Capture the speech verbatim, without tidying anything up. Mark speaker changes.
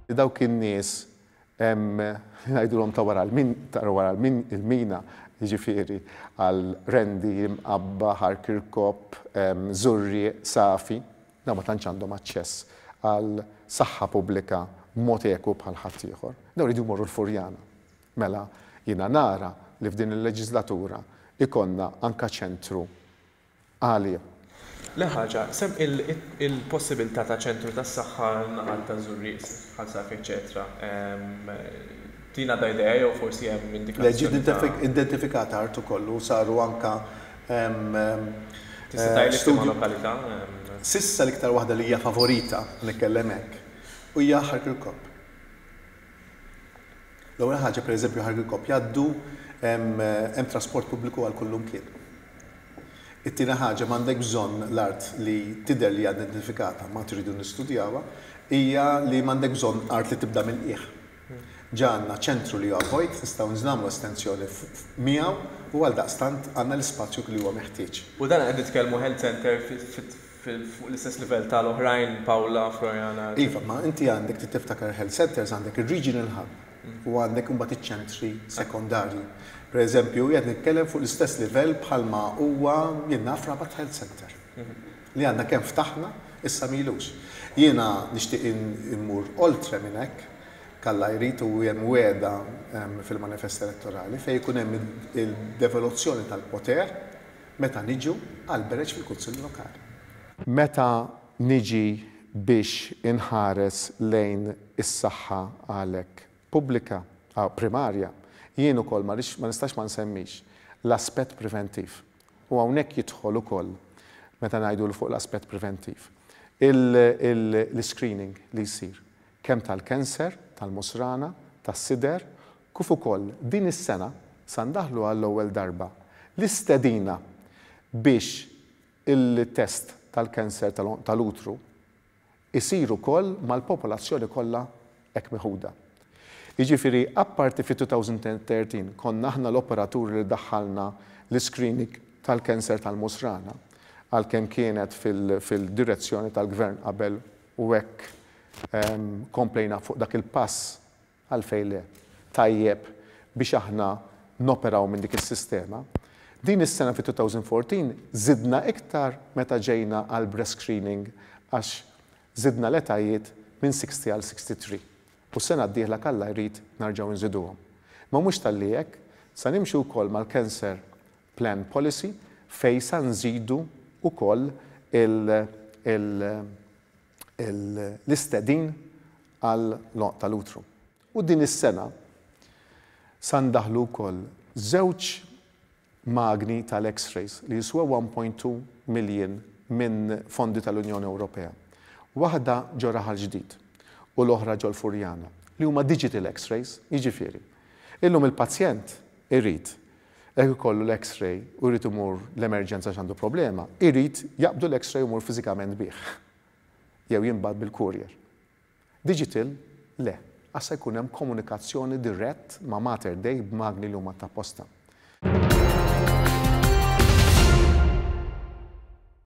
Speaker 1: Dawk in-nies ngħidulhom ta' wara l-mina, jiġifieri għal Qrendi, Mqabba, Ħal Kirkop, Żurrieq, Safi, dawn ma tantx għandhom aċċess għal saħħa pubblika b'mod eku bħal ħaddieħor. Dawn iridu jmorru l-Furjana. Mela jiena nara li f'din il-leġislatura ikollna anka ċentru għalija.
Speaker 2: Le ħaġa, sem il-possibilità ta' ċentru tas-saħħa naħat ta' Żurrieq, Ħal Safi, eċetera. Tina da idea jew forsi hemm indikazzjoni?
Speaker 3: Le, identifikata art ukoll u saru anka
Speaker 2: Tista' tgħidli f'liema lokalità?
Speaker 3: S'issa l-iktar waħda li hija favorita, nitkellem hekk, u hija Ħal Kirkop. L-ewwel ħaġa, pereżempju, Ħal Kirkop jgħaddu hemm trasport pubbliku għal kullimkien. It-tieni ħaġa, m'għandek bżonn l-art li tidher li hija identifikata, ma tridu nistudjawha, hija li m'għandek bżonn art li tibda mill-qiegħ. Ġa għandna ċentru li huwa vojt, nistgħu nagħmlu estensjoni miegħu u għaldaqstant għandna l-ispazju li huwa meħtieġ.
Speaker 2: U dan qed nitkellmu health center fuq l-istess livell tal-oħrajn, Paola, Floriana?
Speaker 3: Iva, ma inti għandek tiftakar, health centers għandek il-regional hub u għandek imbagħad iċ-ċentri sekondarji. Per eżempju, qed nitkellem fuq l-istess livell bħalma huwa, jien naf, Rabat Health Center. Li għandna kemm ftaħna issa m'ilux. Jiena nixtieq immur oltre minn hekk, kalla jrid, u hemm wegħda fil-manifest elettorali fejn ikun hemm il-devoluzzjoni tal-poter meta niġu għal bereġ fil-Kunsill Lokali.
Speaker 1: Meta niġi biex inħares lejn is-saħħa għalek pubblika, primarja, jien ukoll ma nistax ma nsemmix l-aspett preventiv. U hawnhekk jidħol ukoll, meta ngħidu fuq l-aspett preventiv, l-screening li jsir kemm tal-kanser, tal-musrana, tas-sider, kif ukoll din is-sena sa ndaħlu għall-ewwel darba l-istedina biex il-test tal-kanser tal-utru isir ukoll mal-popolazzjoni kollha hekk meħuda. Jiġifieri, apparti fi elfejn u tlettax konna aħna l-operaturi li daħħalna l-screening tal-kanser tal-musrana, għalkemm kienet fil-direzzjoni tal-gvern qabel u hekk komplejna fuq dak il-pass, għalfejn le, tajjeb biex aħna noperaw minn dik is-sistema. Din is-sena fi elfejn u erbatax zidna iktar meta ġejna għal breast screening, għax zidna l-etajiet minn sittaħxin għal tlieta u sittin. U sena d-dieħla, kalla jrid, nerġgħu nżiduhom. Ma mhux talli hekk, sa nimxu wkoll mal-Cancer Plan Policy fej sa nżidu wkoll l-istedin għal tal-utru. U din is-sena sa ndaħlu wkoll żewġ magni tal-X-rays li jiswa wieħed punt tnejn million minn fondi tal-Unjoni Ewropea. Waħda ġo Raħal Ġdid u l-oħra ġol Furjana, li huma digital X-rays, jiġifieri illum il-pazjent irid jekk ikollu l-X-ray u jrid imur l-emerġenza għandu problema, irid jaqbdu l-X-ray u jmur fiżikament bih. Jew jinbagħat bil-courier. Digital, le, għassa jkun hemm komunikazzjoni dirett ma' Mater Dei b'magni li huma ta' posta.